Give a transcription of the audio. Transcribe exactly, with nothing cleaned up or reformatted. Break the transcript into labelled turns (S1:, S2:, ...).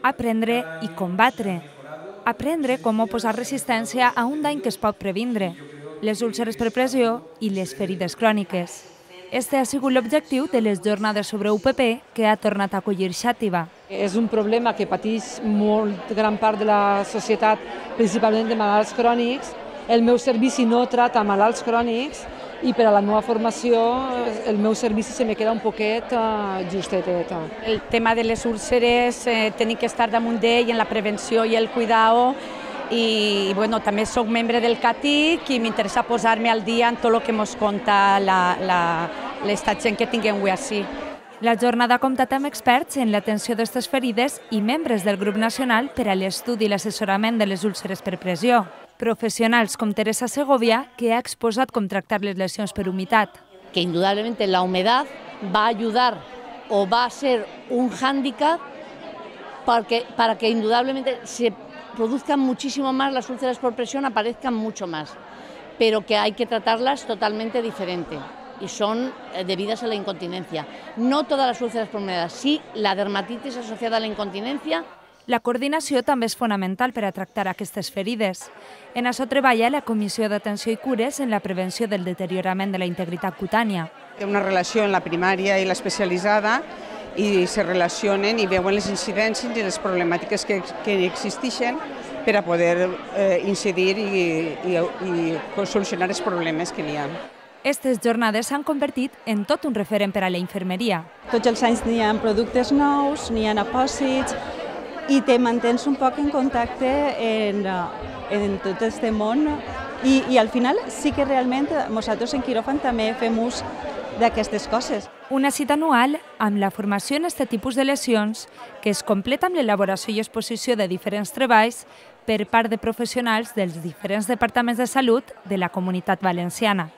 S1: Aprendre i combatre. Aprendre com oposar resistència a un dany que es pot previndre, les úlceres per pressió i les ferides cròniques. Este ha sigut l'objectiu de les jornades sobre U P P que ha tornat a acollir Xàtiva.
S2: És un problema que pateix molt gran part de la societat, principalment de malalts crònics. El meu servici no trata malalts crònics i per a la meva formació el meu servici se me queda un poquet justetet.
S3: El tema de les úlceres, eh, tenim que estar damunt d'ell en la prevenció i el cuidado. I bueno, també soc membre del C A T I C i m'interessa posar-me al dia en tot el que ens conta l'esta gent que tinguem avui així.
S1: La jornada ha comptat amb experts en l'atenció d'aquestes ferides i membres del grup nacional per a l'estudi i l'assessorament de les úlceres per pressió. Profesionals com Teresa Segovia, que ha exposat com tractar les lesions per humitat.
S4: Que indudablemente la humedad va a ayudar o va a ser un hándicap porque, para que indudablemente se produzcan muchísimo más las úlceras por presión, aparezcan mucho más, pero que hay que tratarlas totalmente diferente y son debidas a la incontinencia. No todas las úlceras por humedad, sí la dermatitis asociada a la incontinencia.
S1: La coordinació també és fonamental per a tractar aquestes ferides. En això treballa la Comissió d'Atenció i Cures en la prevenció del deteriorament de la integritat cutània.
S5: Té una relació en la primària i l'especialitzada i se relacionen i veuen les incidències i les problemàtiques que, que existeixen per a poder eh, incidir i, i, i solucionar els problemes que n'hi ha.
S1: Aquestes jornades s'han convertit en tot un referent per a la infermeria.
S6: Tots els anys n'hi ha productes nous, n'hi ha apòsits, i te mantens un poc en contacte en, en tot aquest món i, i al final sí que realment nosaltres en quiròfan també fem ús d'aquestes coses.
S1: Una cita anual amb la formació en aquest tipus de lesions que es completa amb l'elaboració i exposició de diferents treballs per part de professionals dels diferents departaments de salut de la Comunitat Valenciana.